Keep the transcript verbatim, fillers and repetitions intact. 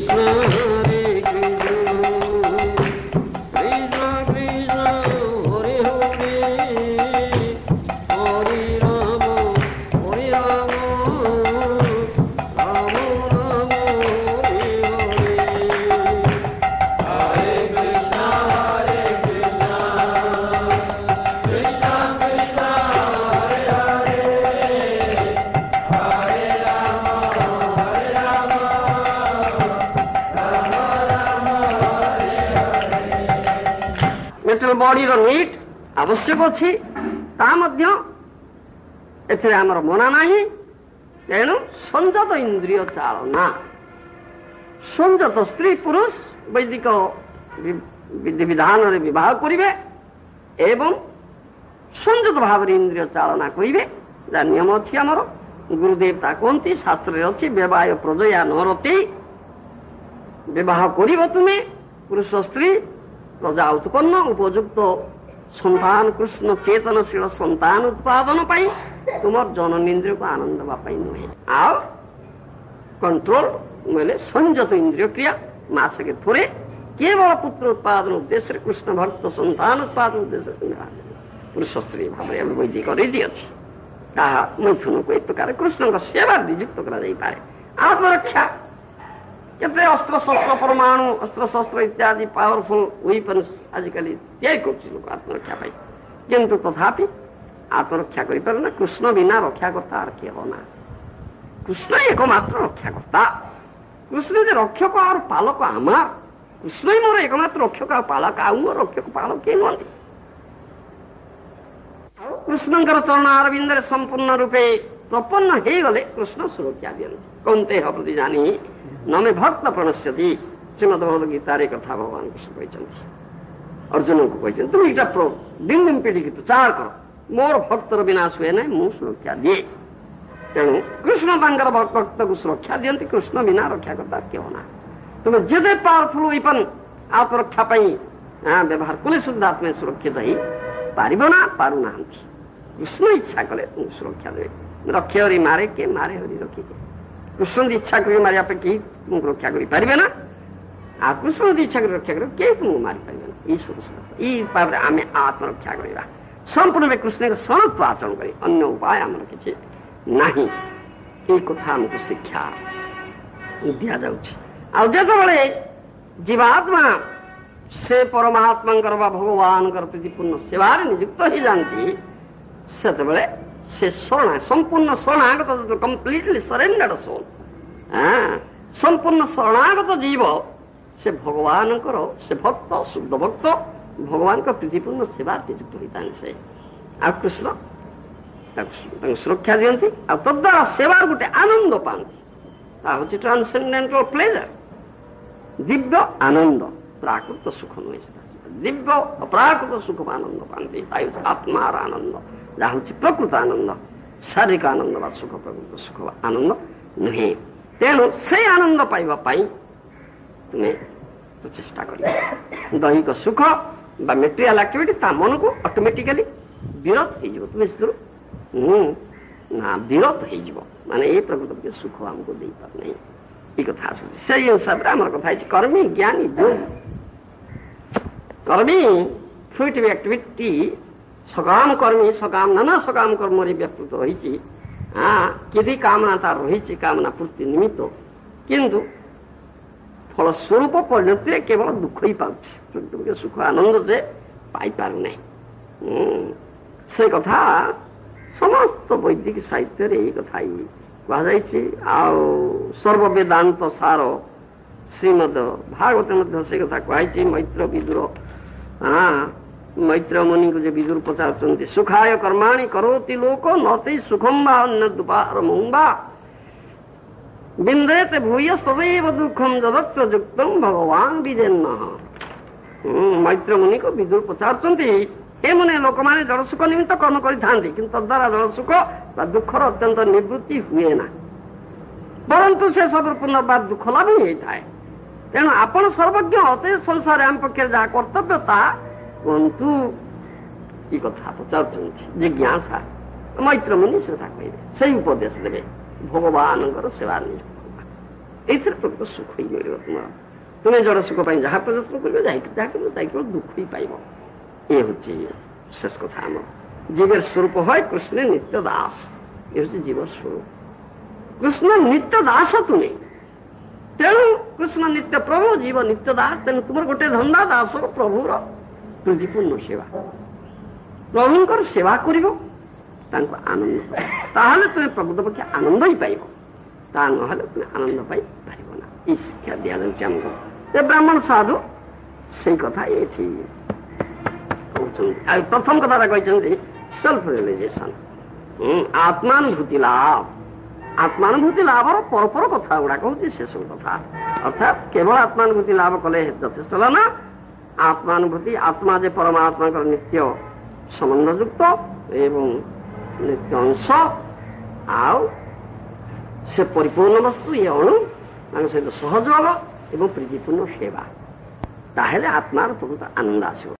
Krishna Hare Krishna Krishna Krishna Hare Hare Hare Rama Hare Rama Rama Rama Hare Hare Hare Krishna Hare Krishna Krishna Krishna Hare Hare Hare Rama Hare Rama Rama Rama Hare Hare material ବଡିର need ଆବଶ୍ୟକ ଅଛି ତା ମଧ୍ୟ ଏଥିରେ ଆମର ମନା ନାହିଁ ତେଣୁ ସଂଯତ ଇନ୍ଦ୍ରିୟ ଚାଳନା ସଂଯତ ସ୍ତ୍ରୀ ପୁରୁଷ ବୈଦିକ ବିଧି ବିଧାନରେ ବିବାହ କରିବେ ଏବଂ ସଂଯତ ଭାବରେ ଇନ୍ଦ୍ରିୟ ଚାଳନା କରିବେ ଯାହା ନିୟମ ଅଛି ଆମର ଗୁରୁଦେବ ତା କୁହନ୍ତି ଶାସ୍ତ୍ରରେ ଅଛି ବିବାହ ପ୍ରଜୟା ନରତି ବିବାହ କରିବ ତୁମେ ପୁରୁଷ ସ୍ତ୍ରୀ ପ୍ରଜା ଉତ୍ପନ୍ନ ଉପଯୁକ୍ତ ସନ୍ତାନ କୃଷ୍ଣ ଚେତନଶୀଳ ସନ୍ତାନ ଉତ୍ପାଦନ ପାଇଁ ତୁମର ଜନନେନ୍ଦ୍ରିୟକୁ ଆନନ୍ଦ ଦେବା ପାଇଁ ନୁହେଁ ଆଉ କଣ୍ଟ୍ରୋଲ ବୋଇଲେ ସଂଯତ ଇନ୍ଦ୍ରିୟ କ୍ରିୟା ମାସକେ ଥରେ କେବଳ ପୁତ୍ର ଉତ୍ପାଦନ ଉଦ୍ଦେଶ୍ୟରେ କୃଷ୍ଣ ଭକ୍ତ ସନ୍ତାନ ଉତ୍ପାଦନ ଉଦ୍ଦେଶ୍ୟରେ ତୁମେ ବାହା କରିବ। ପୁରୁଷ ସ୍ତ୍ରୀ ଭାବରେ ଆମେ ବୈଦିକ ରୀତି ଅଛି ତାହା ମୈଥୁନକୁ ଏ ପ୍ରକାର କୃଷ୍ଣଙ୍କ ସେବାରେ ନିଯୁକ୍ତ କରାଯାଇପାରେ ଆତ୍ମରକ୍ଷା କେତେ ଅସ୍ତ୍ରଶସ୍ତ୍ର ପରମାଣୁ ଅସ୍ତ୍ରଶସ୍ତ୍ର ଇତ୍ୟାଦି ପାୱାରଫୁଲ ୱିପନ୍ସ ଆଜିକାଲି ତିଆରି କରୁଛି ଲୋକ ଆତ୍ମରକ୍ଷା ପାଇଁ କିନ୍ତୁ ତଥାପି ଆତ୍ମରକ୍ଷା କରିପାରେ ନା କୃଷ୍ଣ ବିନା ରକ୍ଷାକର୍ତ୍ତା ଆଉ କେହ ନା କୃଷ୍ଣ ଏକମାତ୍ର ରକ୍ଷାକର୍ତ୍ତା କୃଷ୍ଣ ଯେ ରକ୍ଷକ ଆଉ ପାଲକ আমার କୃଷ୍ଣ ହିଁ ମୋର ଏକମାତ୍ର ରକ୍ଷକ ଆଉ ପାଳକ ଆଉ ମୋର ରକ୍ଷକ ପାଳକ କେହି ନୁହନ୍ତି ଆଉ କୃଷ୍ଣଙ୍କର ଚରଣ ଅରବିନ୍ଦରେ ସମ୍ପୂର୍ଣ୍ଣ ରୂପେ ପ୍ରପନ୍ନ ହେଇଗଲେ କୃଷ୍ଣ ସୁରକ୍ଷା ଦିଅନ୍ତି କୌନ୍ତେୟ ପ୍ରତିଜାନାହି ନ ମେ ଭକ୍ତ ପ୍ରଣଶ୍ୟତି ଶ୍ରୀମଦ ଭଗବତ ଗୀତାରେ କଥା ଭଗବାନ କୃଷ୍ଣ କହିଛନ୍ତି ଅର୍ଜୁନଙ୍କୁ କହିଛନ୍ତି তুমি ଏଇଟା ଦିନ ଦିନ ପିଢ଼ିକି ପ୍ରଚାର କର ମୋର ଭକ୍ତର ବିନାଶ ହୁଏ ନାହିଁ ମୁଁ ସୁରକ୍ଷା ଦିଏ ତେଣୁ କୃଷ୍ଣ ତାଙ୍କର ଭକ୍ତକୁ ସୁରକ୍ଷା ଦିଅନ୍ତି କୃଷ୍ଣ ବିନା ରକ୍ଷାକର୍ତ୍ତା କେହ ନା ତୁମେ ଯେତେ ପାୱାରଫୁଲ ୱିପନ୍ ଆତ୍ମରକ୍ଷା ପାଇଁ ବ୍ୟବହାର କଲେ ସୁଦ୍ଧା ତୁମେ ସୁରକ୍ଷିତ ହେଇ ପାରିବ ନା ପାରୁନାହାନ୍ତି କୃଷ୍ଣ ଇଚ୍ଛା କଲେ ତୁମକୁ ସୁରକ୍ଷା ଦେବେ ରକ୍ଷେ ହରି ମାରେ କେ ମାରେ ହରି ରଖେ କେ କୃଷ୍ଣ ଯଦି ଇଚ୍ଛା କରି ମାରିବା ପାଇଁ କେହି ତୁମକୁ ରକ୍ଷା କରିପାରିବେ ନା ଆଉ କୃଷ୍ଣ ଯଦି ଇଚ୍ଛା କରି ରକ୍ଷା କରିବେ କେହି ତୁମକୁ ମାରିପାରିବେ ନା ଏଇ ସବୁ ଏଇ ଭାବରେ ଆମେ ଆତ୍ମରକ୍ଷା କରିବା ସମ୍ପୂର୍ଣ୍ଣ ରୂପେ କୃଷ୍ଣଙ୍କ ଶରଣତ୍ୱ ଆଚରଣ କରି ଅନ୍ୟ ଉପାୟ ଆମର କିଛି ନାହିଁ ଏଇ କଥା ଆମକୁ ଶିକ୍ଷା ଦିଆଯାଉଛି ଆଉ ଯେତେବେଳେ ଜୀବାତ୍ମା ସେ ପରମାତ୍ମାଙ୍କର ବା ଭଗବାନଙ୍କର ପ୍ରୀତିପୂର୍ଣ୍ଣ ସେବାରେ ନିଯୁକ୍ତ ହେଇଯାନ୍ତି ସେତେବେଳେ ସେ ଶରଣା ସମ୍ପୂର୍ଣ୍ଣ ଶରଣାଗତ କମ୍ପ୍ଲିଟଲି ସରେଣ୍ଡର୍ଡ ସୋଲ୍ ସମ୍ପୂର୍ଣ୍ଣ ଶରଣାଗତ ଜୀବ ସେ ଭଗବାନଙ୍କର ସେ ଭକ୍ତ ଶୁଦ୍ଧ ଭକ୍ତ ଭଗବାନଙ୍କ ପ୍ରୀତିପୂର୍ଣ୍ଣ ସେବାରେ ନିଯୁକ୍ତ ହୋଇଥାନ୍ତି ସେ ଆଉ କୃଷ୍ଣ ତାକୁ ତାଙ୍କୁ ସୁରକ୍ଷା ଦିଅନ୍ତି ଆଉ ତଦ୍ୱାରା ସେବାର ଗୋଟେ ଆନନ୍ଦ ପାଆନ୍ତି ତା ହଉଛି ଟ୍ରାନ୍ସେଣ୍ଡେଣ୍ଟାଲ ପ୍ଲେଜର ଦିବ୍ୟ ଆନନ୍ଦ ପ୍ରାକୃତ ସୁଖ ନୁହେଁ ସେଟା ଦିବ୍ୟ ଅପ୍ରାକୃତ ସୁଖ ଆନନ୍ଦ ପାଆନ୍ତି ତା ହେଉଛି ଆତ୍ମାର ଆନନ୍ଦ ଯାହା ହେଉଛି ପ୍ରକୃତ ଆନନ୍ଦ ଶାରୀରିକ ଆନନ୍ଦ ବା ସୁଖ ପ୍ରକୃତ ସୁଖ ବା ଆନନ୍ଦ ନୁହେଁ ତେଣୁ ସେଇ ଆନନ୍ଦ ପାଇବା ପାଇଁ ତୁମେ ପ୍ରଚେଷ୍ଟା କରିବ ଦୈହିକ ସୁଖ ବା ମେଟେରିଆଲ ଆକ୍ଟିଭିଟି ତା ମନକୁ ଅଟୋମେଟିକାଲି ବିରତ ହେଇଯିବ ତୁମେ ସେଥିରୁ ନା ବିରତ ହେଇଯିବ ମାନେ ଏ ପ୍ରକୃତ ସୁଖ ଆମକୁ ଦେଇପାରୁନାହିଁ ଏଇ କଥା ଆସୁଛି ସେଇ ହିସାବରେ ଆମର କଥା ହେଇଛି କର୍ମୀ ଜ୍ଞାନୀ ଯୋଗୀ କର୍ମୀ ଫ୍ରୁଇଟିଭ ଆକ୍ଟିଭିଟି ସକାମ କର୍ମୀ ସକାମ ନାନା ସକାମ କର୍ମରେ ବ୍ୟାପୃତ ରହିଛି ହଁ କେତେ କାମନା ତାର ରହିଛି କାମନା ପୂର୍ତ୍ତି ନିମିତ୍ତ କିନ୍ତୁ ଫଳସ୍ୱରୂପ ପରିଣତିରେ କେବଳ ଦୁଃଖ ହିଁ ପାଉଛି ସୁଖ ଆନନ୍ଦ ଯେ ପାଇପାରୁନାହିଁ ସେ କଥା ସମସ୍ତ ବୈଦିକ ସାହିତ୍ୟରେ ଏଇ କଥା ହିଁ କୁହାଯାଇଛି ଆଉ ସର୍ବବେଦାନ୍ତ ସାର ଶ୍ରୀମଦ ଭାଗବତ ମଧ୍ୟ ସେ କଥା କୁହାଯାଇଛି ମୈତ୍ର ବିଦୁର ହଁ ମୈତ୍ର ମୁନିଙ୍କୁ ଯେ ବିଦୁର ପଚାରୁଛନ୍ତି ସୁଖାୟ କର୍ମାଣି କରୋତି ଲୋକ ନତେ ସୁଖମ ବା ଅନ୍ୟଦୁପାରମଂ ବା ବିନ୍ଦେତେ ଭୂୟ ସଦୈବ ଦୁଃଖം ଯଦତ୍ର ଯୁକ୍ତಂ ଭଗବାନ ବିଜେନ୍ନ ମୈତ୍ର ମୁନିକୁ ବିଦୁର ପଚାରୁଛନ୍ତି ହେ ମୁନେ ଲୋକମାନେ ଜଡ଼ସୁଖ ନିମିତ୍ତ କର୍ମ କରିଥାନ୍ତି କିନ୍ତୁ ତଦ୍ୱାରା ଜଡ଼ସୁଖ ବା ଦୁଃଖର ଅତ୍ୟନ୍ତ ନିବୃତ୍ତି ହୁଏ ନା ପରନ୍ତୁ ସେ ସବୁ ପୁନର୍ବାର ଦୁଃଖ ଲାଭ ହିଁ ହେଇଥାଏ ତେଣୁ ଆପଣ ସର୍ବଜ୍ଞ ଅତେ ସଂସାରରେ ଆମ ପକ୍ଷରେ ଯାହା କର୍ତ୍ତବ୍ୟ ତାହା କୁହନ୍ତୁ ଏ କଥା ପଚାରୁଛନ୍ତି ଜିଜ୍ଞାସା ମୈତ୍ର ମୁନି ସେ କଥା କହିବେ ସେଇ ଉପଦେଶ ଦେବେ ଭଗବାନଙ୍କର ସେବା ନିଯୁକ୍ତ ଏଇଥିରେ ପ୍ରକୃତ ସୁଖ ହିଁ ମିଳିବ ତୁମର। ତୁମେ ଜଡ଼ ସୁଖ ପାଇଁ ଯାହା ପ୍ରଯତ୍ନ କରିବ, ଯାହା ଯାହା କରିବ, ତାଇ କେବଳ ଦୁଃଖ ହିଁ ପାଇବ। ଏ ହେଉଛି ଶେଷ କଥା। ଆମର ଜୀବର ସ୍ୱରୂପ হয় କୃଷ୍ଣ ନିତ୍ୟ ଦାସ। ଏ ହେଉଛି ଜୀବର ସ୍ୱରୂପ, କୃଷ୍ଣ ନିତ୍ୟ ଦାସ ତୁମେ। ତେଣୁ କୃଷ୍ଣ ନିତ୍ୟ ପ୍ରଭୁ, ଜୀବ ନିତ୍ୟ ଦାସ। ତେଣୁ ତୁମର ଗୋଟେ ଧନ୍ଦା ଦାସର ପ୍ରଭୁର ପ୍ରୀତିପୂର୍ଣ୍ଣ ସେବା। ପ୍ରଭୁଙ୍କର ସେବା କରିବ, ତାଙ୍କୁ ଆନନ୍ଦ, ତାହେଲେ ତୁମେ ପ୍ରକୃତ ପକ୍ଷେ ଆନନ୍ଦ ହିଁ ପାଇବ। ତା ନହେଲେ ତୁମେ ଆନନ୍ଦ ପାଇପାରିବ ନା। ଏଇ ଶିକ୍ଷା ଦିଆଯାଉଛି ଆମକୁ ଯେ ବ୍ରାହ୍ମଣ ସାଧୁ ସେଇ କଥା ଏଠି କହୁଛନ୍ତି। ଆଉ ପ୍ରଥମ କଥାଟା କହିଛନ୍ତି ସେଲ୍ଫ ରିଏଲାଇଜେସନ, ଆତ୍ମାନୁଭୂତି ଲାଭ। ଆତ୍ମାନୁଭୂତି ଲାଭର ପରପର କଥା ଗୁଡାକ ହଉଛି ସେସବୁ କଥା। ଅର୍ଥାତ୍ କେବଳ ଆତ୍ମାନୁଭୂତି ଲାଭ କଲେ ଯଥେଷ୍ଟ ହେଲା ନା। ଆତ୍ମାନୁଭୂତି, ଆତ୍ମା ଯେ ପରମାତ୍ମାଙ୍କର ନିତ୍ୟ ସମ୍ବନ୍ଧଯୁକ୍ତ ଏବଂ ନିତ୍ୟ ଅଂଶ, ଆଉ ସେ ପରିପୂର୍ଣ୍ଣ ବସ୍ତୁ, ଇଏ ଅଣୁ, ତାଙ୍କ ସହିତ ସହଯୋଗ ଏବଂ ପ୍ରୀତିପୂର୍ଣ୍ଣ ସେବା, ତାହେଲେ ଆତ୍ମାର ପ୍ରକୃତ ଆନନ୍ଦ ଆସିବ।